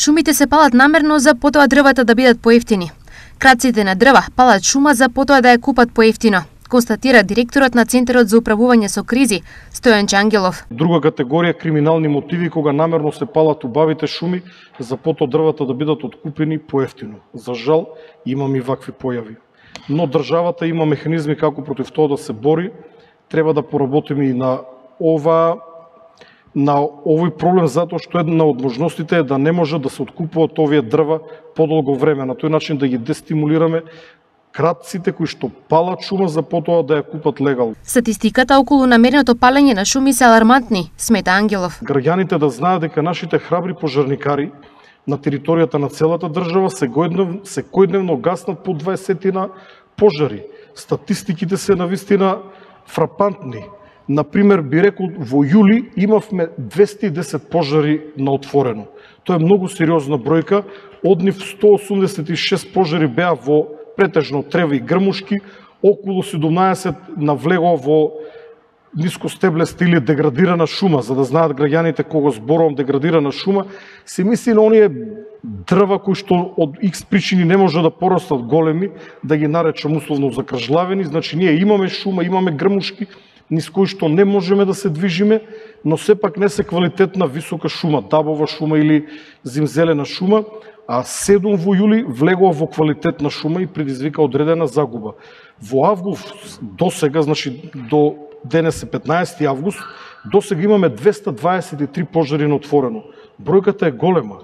Шумите се палат намерно за потоа дрвата да бидат поевтини. Крадците на дрва палат шума за потоа да ја купат поевтино, констатира директорот на Центарот за управување со кризи, Стојанче Ангелов. Друга категорија криминални мотиви кога намерно се палат убавите шуми за потоа дрвата да бидат откупени поевтино. За жал, имаме и вакви појави. Но државата има механизми како против тоа да се бори. Треба да поработиме и на овој проблем, затоа што една од можностите е да не може да се откупуваат овие дрва подолго време. На тој начин да ги дестимулираме кратците кои што палат шума за потоа да ја купат легално. Статистиката околу намереното палење на шуми се алармантни, смета Ангелов. Граѓаните да знаат дека нашите храбри пожарникари на територијата на целата држава секојдневно гаснат по 20 пожари. Статистиките се навистина фрапантни. Например, би рекол, во јули имавме 210 пожари на отворено. Тоа е многу сериозна бројка. Од нив 186 пожари беа во претежно треви и грмушки, околу 17 навлегува во нискостеблеста или деградирана шума. За да знаат граѓаните кога зборувам деградирана шума, се мисли на оние дрва кои што од X причини не може да порастат големи, да ги наречам условно закржлавени. Значи ние имаме шума, имаме грмушки, низ кои што не можеме да се движиме, но сепак не се квалитетна висока шума, дабова шума или зимзелена шума, а 7 во јули влегува во квалитетна шума и предизвика одредена загуба. Во август до сега, значи до денес е 15 август, до сега имаме 223 пожари на отворено. Бројката е голема.